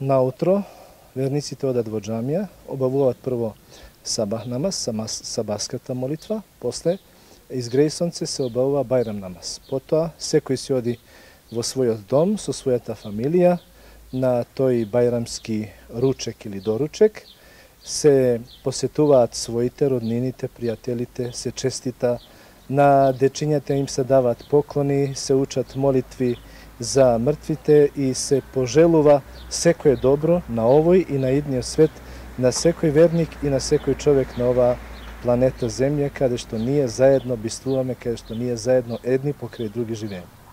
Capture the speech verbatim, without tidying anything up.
Наутро верниците одат во џамија, обавуваат прво сабах намаз, сабаската молитва, после изгреј сонце се обавува бајрам намаз. Потоа секој си оди во својот дом со својата фамилија на тој бајрамски ручек или доручек, се посетуваат своите, роднините, пријателите, се честита, на дечињата им се даваат поклони, се учат молитви за мртвите и се пожелува секое добро на овој и на идниот свет, на секој верник и на секој човек на оваа планета Земја, каде што ние заедно бистуваме, каде што ние заедно едни покрај други живееме.